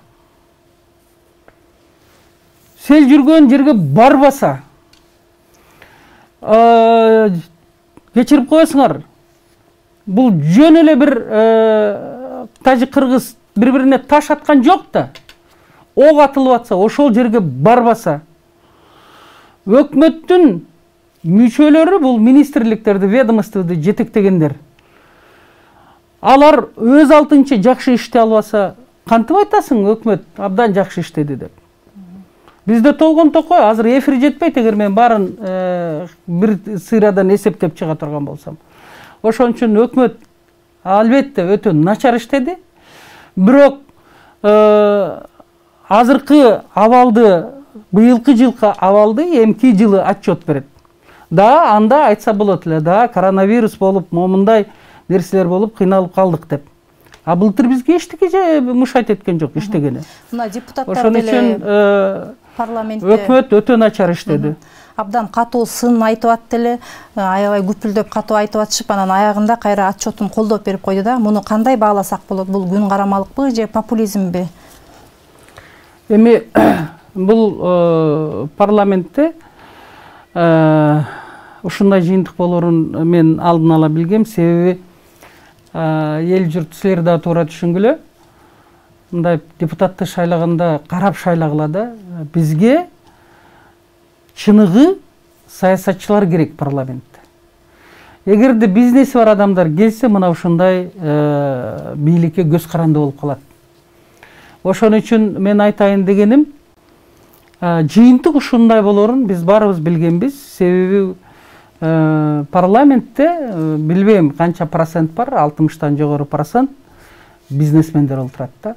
сел жүргөн жерге барбаса, кечирип коесуңар, бул жөн эле бир тажик кыргыз бири бирине таш аткан жок да. Ок атылып атса, ошол жерге барбаса, өкмөттүн мүчөлөрү, бул министрликтерди, ведомстводу жетектегендер, алар өз алдынча жакшы иштей албаса, кантип айтасың өкмөт абдан жакшы иштеди деп? Бизде толгон токой, азыр эфир жетпейт, эгер мен баарын бир сыйрадан эсептеп чыга турган болсом. Ошон үчүн өкмөт албетте өтө начар иштеди. Бирок азыркы абалды, быйылкы жылкы абалды эмки жылы отчет берет. Да, анда айтса болот эле, да, коронавирус болуп, момундай нерселер болуп, кыйналып калдык деп. А былтыр бизге эчтеке мушайт эткен жок иштегени. Мына депутаттар ошон үчүн парламентте өкмөт өтө начар иштеди. Абдан катуу сын айтып атты эле, аябай күпүлдөп катуу айтып атышып, анан аягында кайра отчетун колдоп берип койду да. Муну кандай бааласак болот? Бул күн карамалыкпы же популизмби? Эми бул парламентте ушундай жыйынтык болорун мен алдын ала билгем, себеби эл журт силер да туура түшүнгүлө. Мындай депутатты шайлаганда карап шайлагыла да. Бизге чыныгы саясатчылар керек парламентте. Эгерде бизнеси бар адамдар келсе, мына ушундай бийликке көз каранды болуп калат. Ошон үчүн мен айтайын дегеним, жыйынтык ушундай болорун биз баарыбыз билгенбиз. Себеби парламентте билбейм канча процент бар, 60тан жогору процент бизнесмендер отурат да.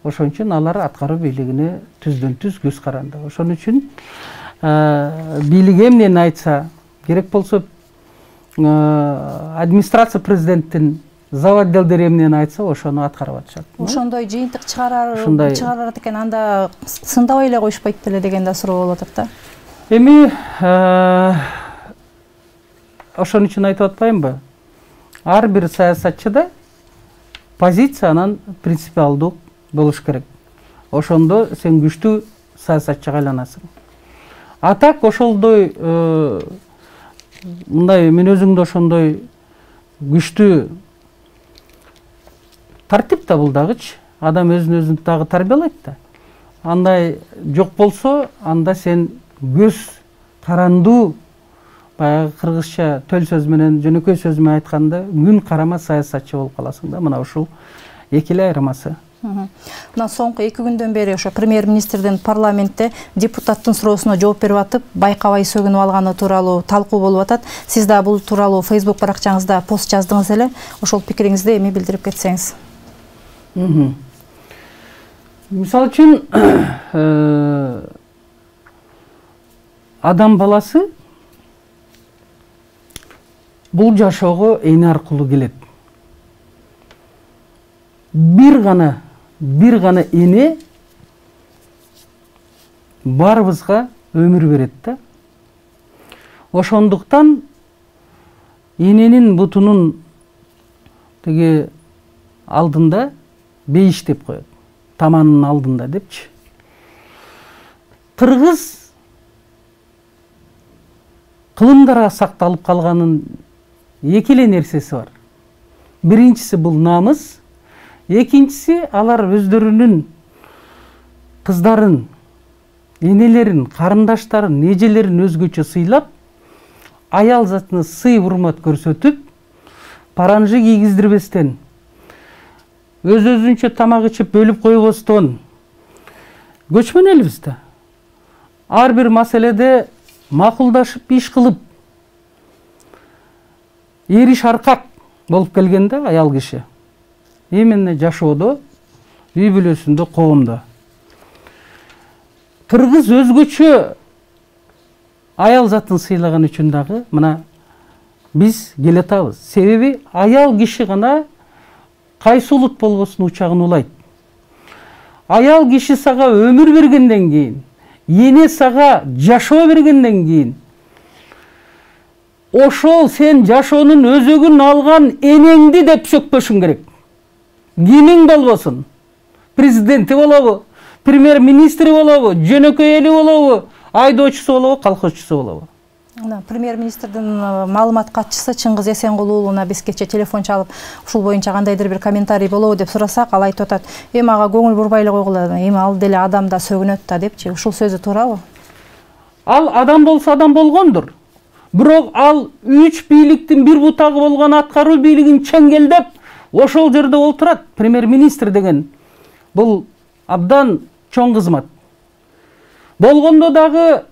Ошон үчүн алар аткаруу бийлигине түздөн түз көз каранды. Ошон үчүн бийлик эмнени айтса, керек болсо администрация президенттин зав. Отделдери эмнени айтса, ошону аткарып атышат. Ошондой жыйынтык чыгарат экен, анда сындабай эле коюшпайт беле деген да суроо болуп атат да. Эми ошон үчүн айтып атпаймынбы? Ар бир саясатчыда позиция анан принципиалдуу болуш керек. Ошондо сен күчтүү саясатчыга айланасың. А так ошолдой мындай мен өзүңдө ошондой күчтүү тартип да бул дагычы. Адам өзүн дагы тарбиялайт да. Андай жок болсо, анда сен көз карандуу, баягы кыргызча төл сөз менен, жөнөкөй сөз менен айтканда, күн карама саясатчы болуп каласың да. Мына ушул эки эле айырмасы. Мына соңку 2 күндөн бери ошо премьер-министрдин парламентте депутаттын суроосуна жооп берип атып, байкабай сөгүнүп алганы тууралуу талкуу болуп атат. Сиз да бул тууралуу Facebook баракчаңызда пост жаздыңыз эле. Ошол пикириңизди эми билдирип кетсеңиз. Мисалы үчүн адам баласы бул жашоого эне аркылуу келет. Бир гана эне баарыбызга өмүр берет да. Ошондуктан эненин бутунун теге алдында бейиш деп коет. Таманын алдында депчи. Кыргыз кылымдарга сакталып калганын эки эле нерсеси бар. Биринчиси бул намыс, экинчиси алар өздөрүнүн кыздарын, энелерин, карындаштарын, эжелерин өзгөчө сыйлап, аял затына сый урмат көрсөтүп, паранжы кийгиздирбестен, өзүнчө тамак ичип бөлүп койбостон көчмөн элбиз да. Ар бир маселеде макулдашып иш кылып, эриш аркак болуп келгенде аял киши именно жашоодо, үй бүлөсүндө, коомдо. Кыргыз өзгөчө аял затын сыйлаган үчүн дагы мына биз келатабыз. Себеби аял киши гана кайсы улут болбосун учагын улайт. Аял киши сага өмүр бергенден кийин, эне сага жашоо бергенден кийин, ошол сен жашоонун өзөгүн алган энеңди деп сөкпөшүң керек. Кимиң болбосун? Президенти болобу, премьер-министри болобу, жөнөкөй эли болобу, айдоочусу болобу, колхозчусу болобу. Премьер-министрдин маалымат катчысы Чыңгыз Эсенгул уулуна биз кече телефон чалып, ушул боюнча кандайдыр бир комментарий болобу деп сурасак, ал айтып атат: "Эми ага көңүл бурбай эле койгула, эми ал деле адам да сөгүнөт да" депчи. Ушул сөзү туурабы? Ал адам болсо адам болгондур. Бирок ал 3 бийликтин бир бутагы болгон аткаруу бийлигин чеңгелдеп, ошол жерде олтурат. Премьер-министр деген бул абдан чоң кызмат. Болгондо дагы,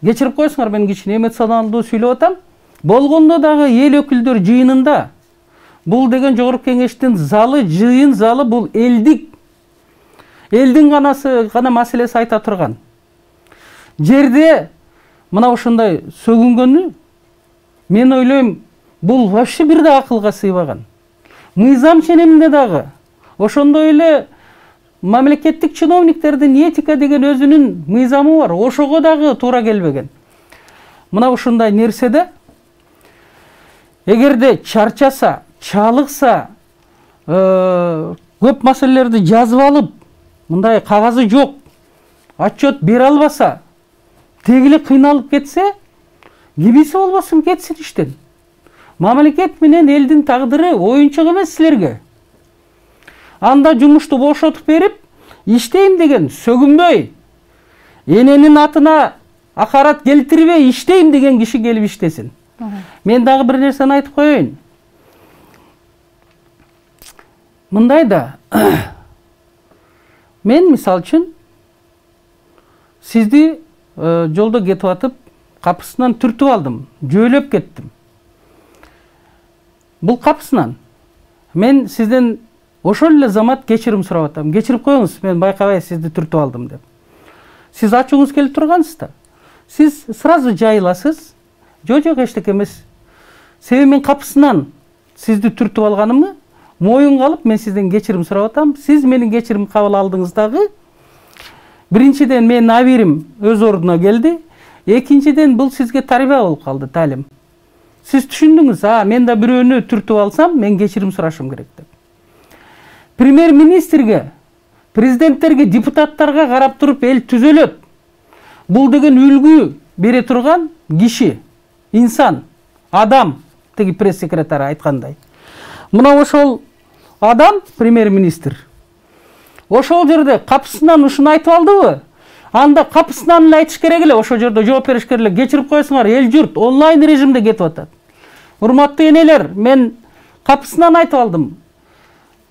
кечирип коесуңар, мен кичине эмоционалдуу сүйлөп атам. Болгондо дагы эл өкүлдөр жыйынында бул деген жогорку кеңештин залы, жыйын залы бул элдин гана маселеси айта турган жерде мына ушундай сөгүнгөнү, мен ойлойм, бул вообще бир да акылга сыйбаган. Мыйзам ченеминде дагы ошондой эле мамлекеттик чиновниктердин этика деген өзүнүн мыйзамы бар. Ошого дагы туура келбеген. Мына ушундай нерседе эгерде чарчаса, чалыкса, көп маселелерди жазып алып, мындай кагазы жок, отчет бере албаса, тегиле кыйналып кетсе, кимиси болбосун кетсин иштен. Мамлекет менен элдин тагдыры оюнчук эмес силерге. Анда жумушту бошотуп берип, иштейм деген сөгүнбөй, эненин атына акарат келтирбей иштейм деген киши келип иштесин. Мен дагы бир нерсени айтып коеюн. Мындай да, мен мисалы үчүн сизди жолдо кетип атып, капысынан түртүп алдым, жөөлөп кеттим. Бул капысынан мен сизден ошол эле замат кечирим сурап атам. Кечирип коюңуз, мен байкабай сизди түртүп алдым деп. Сиз ачууңуз келип тургансыз да. Сиз сразу жайыласыз. Жок, эчтеке эмес. Себеби мен капысынан сизди түртүп алганымы моюнга алып, мен сизден кечирим сурап атам. Сиз менин кечирим кабыл алдыңыз дагы. Биринчиден менин абийирим өз ордуна келди. Экинчиден бул сизге тарбия болуп калды, талим. Сиз түшүндүңүз, мен да бирөөнү түртүп алсам, мен кечирим сурашым керек деп. Премьер-министрге, президенттерге, депутаттарга карап туруп эл түзөлөт. Бул деген үлгү бере турган киши, инсан, адам, теги пресс-секретары айткандай. Мына ошол адам, премьер-министр, ошол жерде капысынан ушуну айтып алдыбы? Анда капысынан эле айтыш керек эле, ошол жерде жооп бериш керек эле. Кечирип коесуңар, эл журт онлайн режимде кетип атат. Урматтуу энелер, мен капысынан айтып алдым.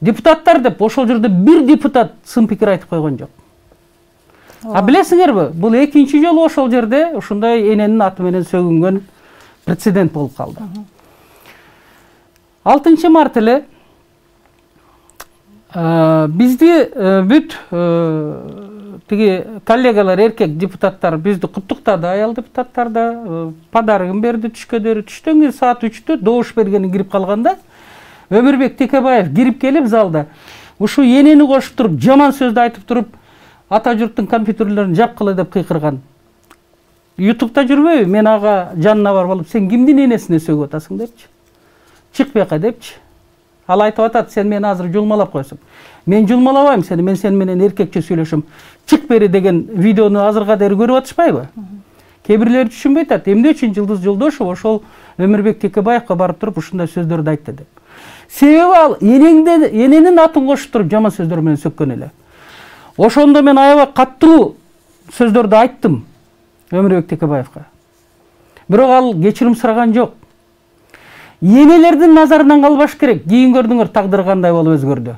Депутаттар деп, ошол жерде бир депутат сын пикир айтып койгон жок. Билесиңерби, бул экинчи жолу ошол жерде ушундай эненин аты менен сөгүнгөн прецедент болуп калды. 6 март эле бизди бүт тиги коллегалар, эркек депутаттар бизди куттуктады, аял депутаттар да подарыгын берди, түшкөдөрү. Түштөн кийин саат 3-тө добуш бергени кирип калганда Өмүрбек Текебаев кирип келип залда ушу энени кошуп туруп, жаман сөздү айтып туруп, ата журттун компьютерлерин жапкыла деп кыйкырган. YouTube'да жүрбөйбү? Мен ага жанына барып алып, сен кимдин энесине сөгүп атасың депчи. Чык бияка депчи. Ал айтып атат, сен мени азыр жулмалап койсуң. Мен жулмалабайм сени, мен сени менен эркекче сүйлөшөм. Чык бери деген видеону азырга дейин көрүп атышпайбы? Кээ бирлери түшүнбөй атат. Эмне үчүн Жылдыз Жолдошов ошол Өмүрбек Текебаевга барып туруп ушундай сөздөрдү айтты деп. Себеби ал эненин атын кошуп туруп жаман сөздөр менен сөккөн эле. Ошондо мен аябай каттуу сөздөрдү айттым Өмүрбек Текебаевга. Бирок ал кечирим сураган жок. Энелердин назарынан калбаш керек. Кийин көрдүңөр тагдыр кандай болуп өзгөрдү.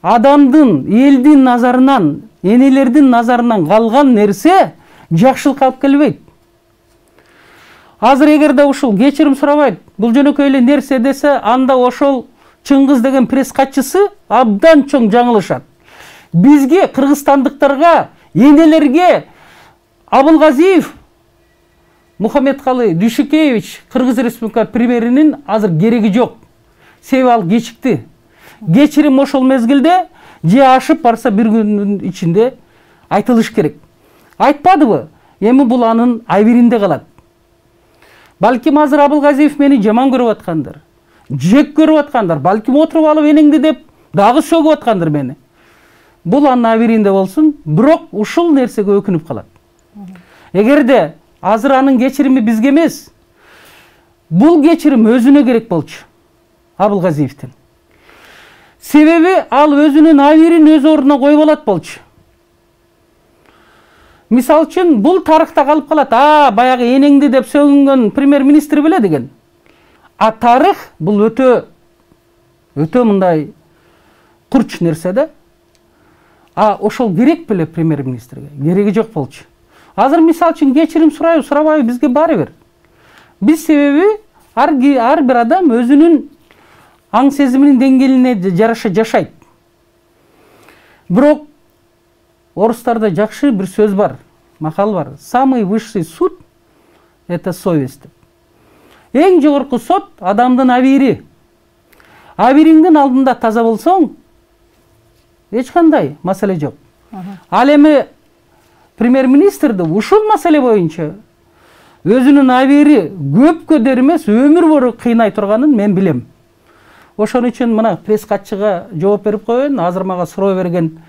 Адамдын, элдин назарынан, энелердин назарынан калган нерсе жакшылыкка алып келбейт. Азыр эгерде ушул кечирим сурабайт, бул жөнөкөй эле нерсе десе, анда ошол Чыңгыз деген пресс катчысы абдан чоң жаңылышат. Бизге, кыргызстандыктарга, энелерге Абылгазиев Мухаммедкалы Дүйшүкеевич, Кыргыз Республика премьеринин азыр кереги жок. Себеби ал кечикти. Кечирим ошол мезгилде же ашып барса бир күндүн ичинде айтылыш керек. Айтпадыбы? Эми бул анын абийиринде калат. Балким азыр Абылгазиев мени жаман көрүп аткандар. Жек көрүп аткандар. Балким отуруп алып энеңди деп дагы сөгүп аткандар мени. Бул анын абийиринде болсун, бирок ушул нерсеге өкүнүп калат. Эгерде азыр анын кечирими бизге эмес. Бул кечирим өзүнө керек болчу. Абылгазиевдин. Себеби ал өзүнүн абийирин өз ордуна коюп алат болчу. Мисал үчүн бул тарыхта калып калат. Баягы энеңди деп сөгүнгөн премьер-министр беле деген. Тарых бул өтө мындай курч нерсе да. Ошол керек беле премьер-министрге? Кереги жок болчу. Азыр мисал үчүн кечирим сурайбы, сурабайбы бизге баары бир. Биз себеби ар бир адам өзүнүн аң сезиминин деңгээлине жараша жашайт. Бирок орустарда жакшы бир сөз бар, макал бар. Самый высший суд — это совесть. Эң жогорку сот адамдын абийири. Абийириңдин алдында таза болсоң, эч кандай маселе жок. Ал эми премьер-министрди ушул маселе боюнча өзүнүн абийири көпкө дер эмес, өмүр бою кыйнай турганын мен билем. Ошон үчүн мына пресс катчыга жооп берип коеюн. Азыр мага суроо берген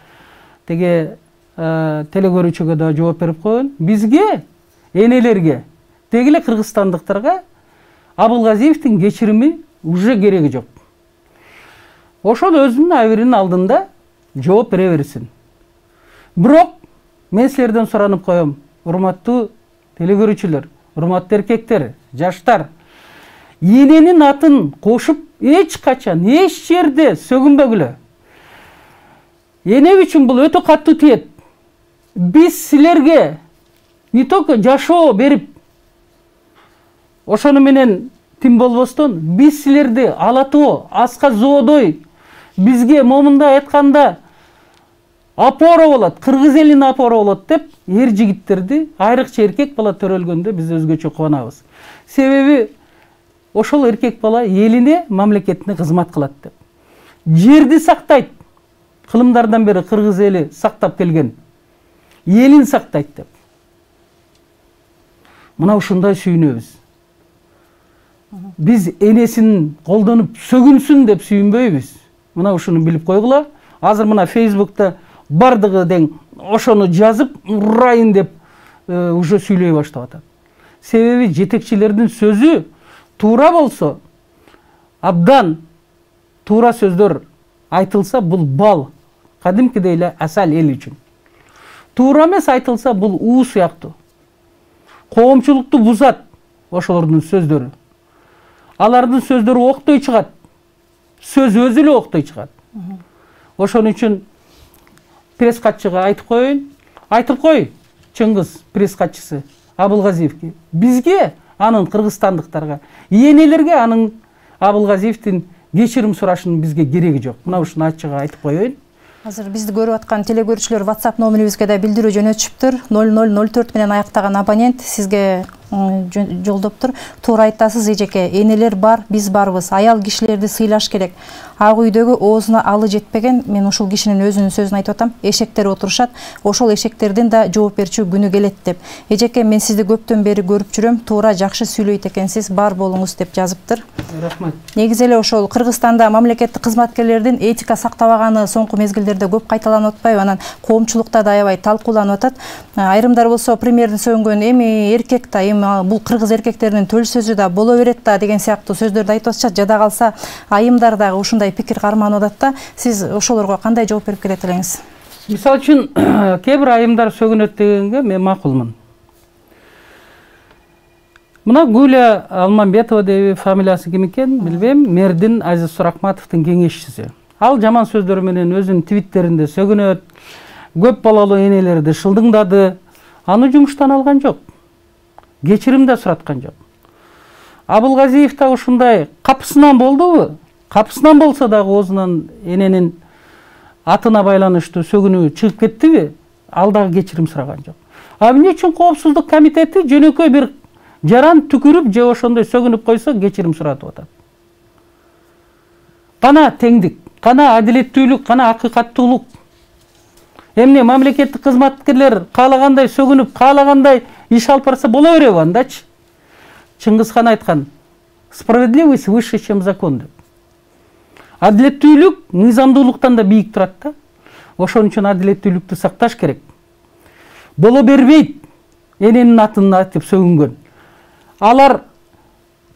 теге телекөрүүчүгө да жооп берип коеюн. Бизге, энелерге, деги эле кыргызстандыктарга Абылгазиевдин кечирими уже кереги жок. Ошол өзүнүн абийиринин алдында жооп бере берсин. Бирок мен силерден суранып коем, урматтуу телекөрүүчүлөр, урматтуу эркектер, жаштар, эненин атын кошуп эч качан, эч жерде сөгүнбөгүлө. Эне үчүн бул өтө катуу тиет. Биз силерге не только жашоо берип, ошону менен тим болбостон, биз силерди алатоо, аска зоодой, бизге момундай айтканда опора болот, кыргыз элине опора болот деп, эр жигиттерди, айрыкча эркек бала төрөлгөндө биз өзгөчө кубанабыз. Себеби ошол эркек бала элине, мамлекетине кызмат кылат деп. Жерди сактайт. Кылымдардан бери кыргыз эли сактап келген. Элин сактайт деп. Мына ушундай сүйүнөбүз. Биз энесин колдонуп сөгүнсүн деп сүйүнбөйбүз. Мына ушуну билип койгула. Азыр мына Facebook'та бардыгы дең ошону жазып урайын деп уже сүйлөй баштап атат. Себеби жетекчилердин сөзү туура болсо, абдан туура сөздөр айтылса, бул бал, кадимкидей эле асал эл үчүн. Туура эмес айтылса, бул уу сыяктуу. Коомчулукту бузат ошолордун сөздөрү. Алардын сөздөрү октой чыгат. Сөз өзү эле октой чыгат. Ошон үчүн пресс катчыга айтып коеюн. Айтып кой, Чыңгыз пресс катчысы Абылгазиевге. Бизге, анын кыргызстандыктарга, энелерге анын Абылгазиевдин кечирим сурашынын бизге кереги жок. Мына ушуну ачык айтып коеюн. Азыр бизди көрүп аткан телекөрүүчүлөр WhatsApp номерибизге да билдирүү жөнөтүшүптүр. 0004 менен аяктаган абонент сизге жолдоптур. Туура айтасыз эжеке, энелер бар, биз барбыз. Аял кишилерди сыйлаш керек. Ак үйдөгү оозуна алы жетпеген, мен ушул кишинин өзүнүн сөзүн айтып атам. Эшектер отурушат, ошол эшектердин да жооп берчү күнү келет деп. Эжеке, мен сизди көптөн бери көрүп жүрөм. Туура жакшы сүйлөйт экенсиз, бар болуңуз деп жазыптыр. Рахмат. Негизи эле ошол Кыргызстанда мамлекеттик кызматкерлердин этика сактабаганы соңку мезгилдерде көп кайталанып атпайбы? Анан коомчулукта да аябай талкууланып атат. Айрымдар болсо премьерди сөгүнгөн эми эркек да, эми бул кыргыз эркектеринин төл сөзү да боло берет да деген сыяктуу сөздөрдү айтып атышат. Жада калса айымдар дагы ушундай пикир карманып атат да. Сиз ошолорго кандай жооп берип келет элеңиз? Мисал үчүн кээ бир айымдар сөгүнөт дегенге мен макулмун. Мына Гуля Алмамбетова деби, фамилиясы ким экен билбейм, мэрдин Азиз Суракматовдун кеңешчиси. Ал жаман сөздөр менен өзүнүн твиттеринде сөгүнөт, көп балалуу энелерди шылдыңдады. Аны жумуштан алган жок. Кечирим да сураткан жок. Абылгазиев да ушундай капысынан болдубу? Капысынан болсо дагы оозунан эненин атына байланыштуу сөгүнүү чыгып кеттиби? Ал дагы кечирим сураган жок. Эмне үчүн коопсуздук комитети жөнөкөй бир жаран түкүрүп же ошондой сөгүнүп койсо кечирим суратып атат? Кана теңдик, кана адилеттүүлүк, кана акыйкаттуулук. Эмне мамлекеттик кызматкерлер каалагандай сөгүнүп, каалагандай иш алып барса боло береби андачы? Чыңгызхан айткан: справедливость выше, чем закон деп. Адилеттүүлүк мыйзамдуулуктан да бийик турат да. Ошон үчүн адилеттүүлүктү сакташ керек. Боло бербейт. эненин атын айтып сөгүнгөн. Алар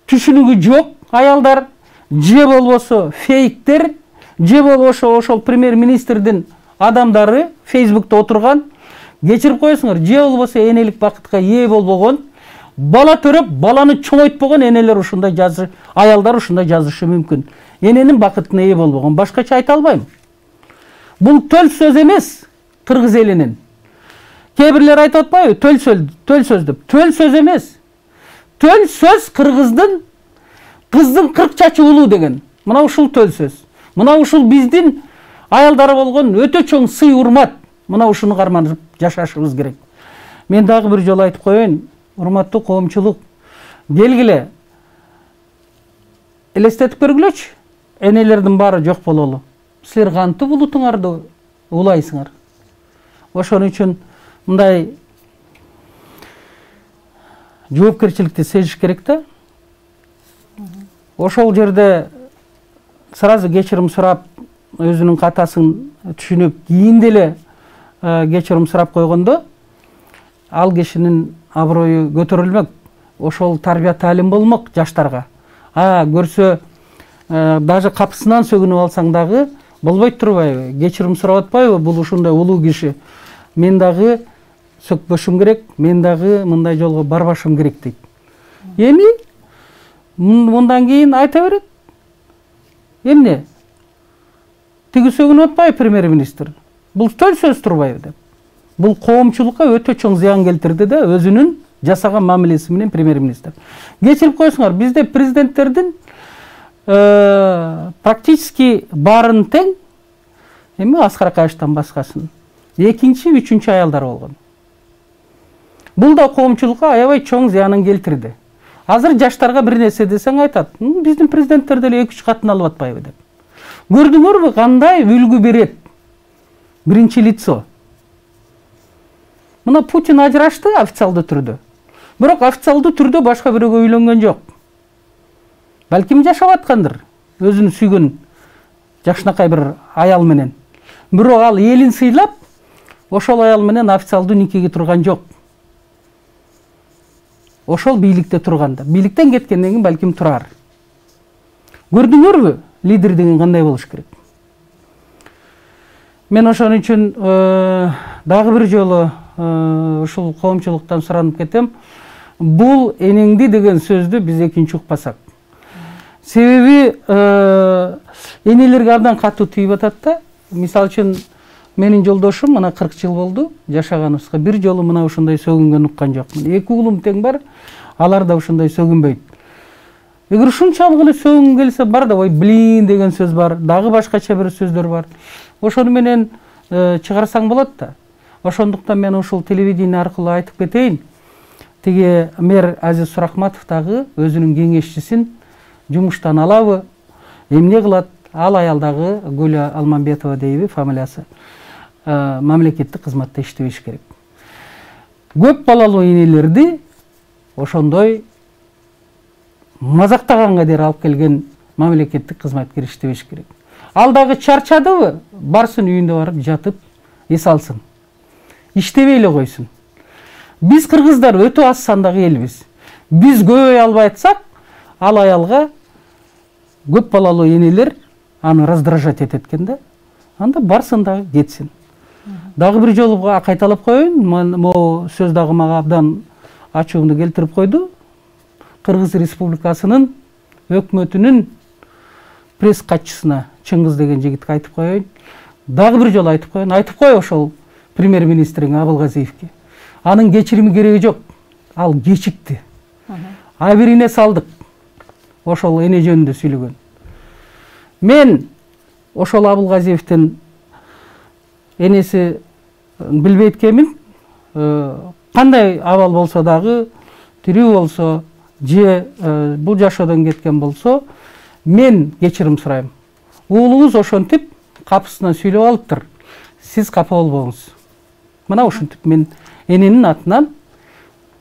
түшүнүгү жок аялдар, же болбосо фейктер, же болбосо ошол премьер-министрдин адамдары Facebook'та отурган, кечирип коесуңар, же болбосо энелик бакытка ээ болбогон, бала төрөп, баланы чоңойтпогон энелер ушундай жазышы, аялдар ушундай жазышы мүмкүн. Эненин бакытына ээ болбогон, башкача айта албайм. Бул төл сөз эмес кыргыз элинин. Кээ бирлер айтып атпайбы, төл сөз деп. Төл сөз эмес. Төл сөз кыргыздын кыздын 40 чачы улуу деген. Мына ушул төл сөз. Мына ушул биздин аялдары болгон өтө чоң сый урмат. Мына ушуну карманып жашашыбыз керек. Мен дагы бир жолу айтып коеюн, урматтуу коомчулук, келгиле элестетип көргүлөчү. Энелердин баары жок бололу. Силер кантип улутуңарды улайсыңар? Ошон үчүн мындай жоопкерчиликти сезиш керек да. Ошол жерде сразу кечирим сурап, өзүнүн катасын түшүнүп, кийин деле кечирим сурап койгондо, ал кишинин аброю көтөрүлмөк. Ошол тарбия таалим болмок жаштарга. Көрсө даже капысынан сөгүнүп алсаң дагы болбойт турбайбы? Кечирим сурап атпайбы? Бул ушундай улуу киши. Мен дагы сөкпөшүм керек, мен дагы мындай жолго барбашым керек дейт. Эми мындан кийин айта берет. Эмне? Тиги сөгүнүп атпайбы премьер-министр? Бул төл сөз турбайбы деп. Бул коомчулукка өтө чоң зыян келтирди да, өзүнүн жасаган мамилеси менен премьер-министр. Кечирип койсуңар, бизде президенттердин практически баарын тең, эми Аскар Акаевичтен башкасын, экинчи, үчүнчү аялдар болгон. Бул да коомчулукка аябай чоң зыянын келтирди. Азыр жаштарга бир нерсе десең айтат, биздин президенттер деле 2-3 катын алып атпайбы деп. Көрдүңөрбү кандай үлгү берет биринчи лицо? Мына Путин ажырашты официалдуу түрдө. Бирок официалдуу түрдө башка бирөөгө үйлөнгөн жок. Балким жашап аткандыр, өзүн сүйгөн жакшынакай бир аял менен. Бирок ал элин сыйлап, ошол аял менен официалдуу никеге турган жок. Ошол бийликте турганда, бийликтен кеткенден кийин балким турар. Көрдүңөрбү, лидер деген кандай болуш керек? Мен ошон үчүн дагы бир жолу ушул коомчулуктан суранып кетем. Бул энеңди деген сөздү биз экинчи укпасак. Себеби энелерге абдан катуу тийип атат да. Мисалы үчүн менин жолдошум мына 40 жыл болду жашаганыбызга, бир жолу мына ушундай сөгүнгөн уккан жокмун. 2 уулум тең бар, алар да ушундай сөгүнбөйт. Эгер ушунчалык эле сөгүнгү келсе, бар да, ой, блин деген сөз бар, дагы башкача бир сөздөр бар. Ошону менен чыгарсаң болот да. Ошондуктан мен ушул телевидение аркылуу айтып кетейин. Тиги мэр Азиз Сурахматов дагы өзүнүн кеңешчисин жумуштан алабы, эмне кылат? Ал аял дагы Гүлө Алмамбетова дейби фамилиясы. Мамлекеттик кызматта иштебеш керек. Көп балалуу энелерди ошондой мазактаганга дейин алып келген мамлекеттик кызматкер иштебеш керек. Ал дагы чарчадыбы, барсын үйүндө барып жатып эс алсын. Иштебей эле койсун. Биз кыргыздар өтө аз сандагы элбиз. Биз көбөй албай атсак, ал аялга көп балалуу энелер аны раздражать этет экен да. Анда барсын дагы кетсин. Дагы бир жолу кайталап коеюн, могу сөз дагы мага абдан ачуумду келтирип койду. Кыргыз Республикасынын өкмөтүнүн пресс катчысына Чыңгыз деген жигитке айтып коеюн. Дагы бир жолу айтып коеюн. Айтып кой ошол премьер-министриң Абылгазиевке. Анын кечирими кереги жок. Ал кечикти. Абирине салдык. Ошол эне жөнүндө сүйлөгөн. Мен ошол Абылгазиевдин энеси билбейт экенмин. Кандай абал болсо дагы, тирүү болсо, же бул жашоодон кеткен болсо, мен кечирим сурайм. Уулуңуз ошентип капысынан сүйлөп алыптыр. Сиз капа болбоңуз. Мына ушинтип мен эненин атынан,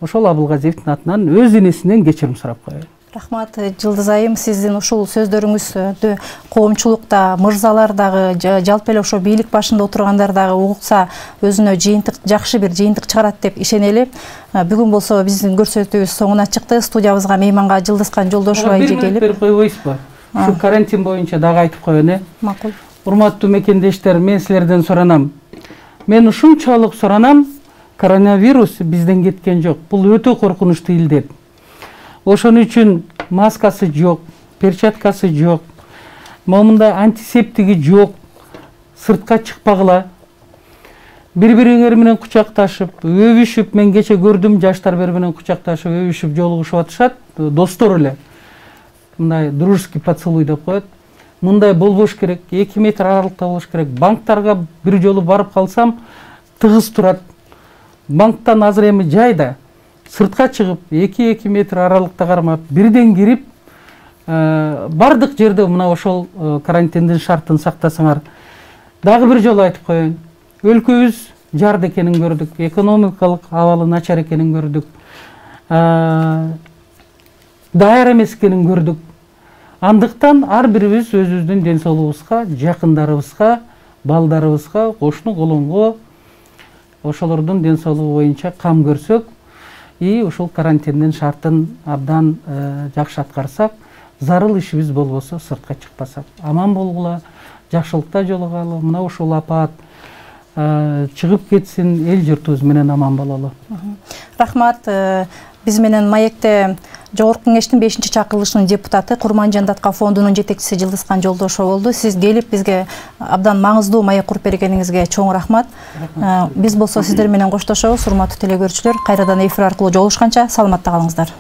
ошол Абылгазиевдин атынан өз энесинен кечирим сурап коеюн. Рахмат, Жылдыз айым, сиздин ушул сөздөрүңүздү коомчулукта, мырзалар дагы, жалпы эле ошо бийлик башында отургандар дагы угукса өзүнө жыйынтык, жакшы бир жыйынтык чыгарат деп ишенели. Бүгүн болсо биздин көрсөтүүбүз соңуна чыкты. Студиябызга мейманга Жылдызкан Жолдошова эже келип. Берип койбойсузбу? Ушу карантин боюнча дагы айтып коеюн, Макул. Урматтуу мекендештер, мен силерден суранам. Мен ушунчалык суранам, коронавирус бизден кеткен жок. Бул өтө коркунучтуу илдет. Ошон үчүн маскасы жок, перчаткасы жок, момундай антисептиги жок, сыртка чыкпагыла. Бири-бириңер менен кучакташып, өбүшүп, мен кече көрдүм, жаштар бири менен кучакташып, өбүшүп, жолугушуп атышат, достор эле. Мындай дружеский поцелуй деп коет. Мындай болбош керек, 2 метр аралыкта болуш керек. Банктарга бир жолу барып калсам, тыгыз турат. Банктан азыр эми жайда сыртка чыгып 2 метр аралыкта кармап бирден кирип бардык жерде мына ошол карантиндин шартын сактасаңар. Дагы бир жолу айтып коеюн, өлкөбүз жарды экенин көрдүк, экономикалык абалы начар экенин көрдүк, даяр эмес экенин көрдүк. Андыктан ар бирибиз өзүбүздүн ден соолугубузга, жакындарыбызга, балдарыбызга, кошуну колонго ошолордун ден соолугу боюнча кам көрсөк, ушул карантиндин шартын абдан жакшы аткарсак, зарыл ишибиз болбосо сыртка чыкпасак, аман болгула, жакшылыкта жолугалы, мына ушул апаат чыгып кетсин, эл журтубуз менен аман бололу. Рахмат. Биз менен маекте Жогорку кеңештин 5-чакырылышынын депутаты, Курманжан Датка фондунун жетекчиси Жылдызкан Жолдошова болду. Сиз келип бизге абдан маңыздуу маек куруп бергениңизге чоң рахмат. Биз болсо сиздер менен коштошобуз, урматтуу телекөрүүчүлөр. Кайрадан эфир аркылуу жолугушканча саламатта калыңыздар.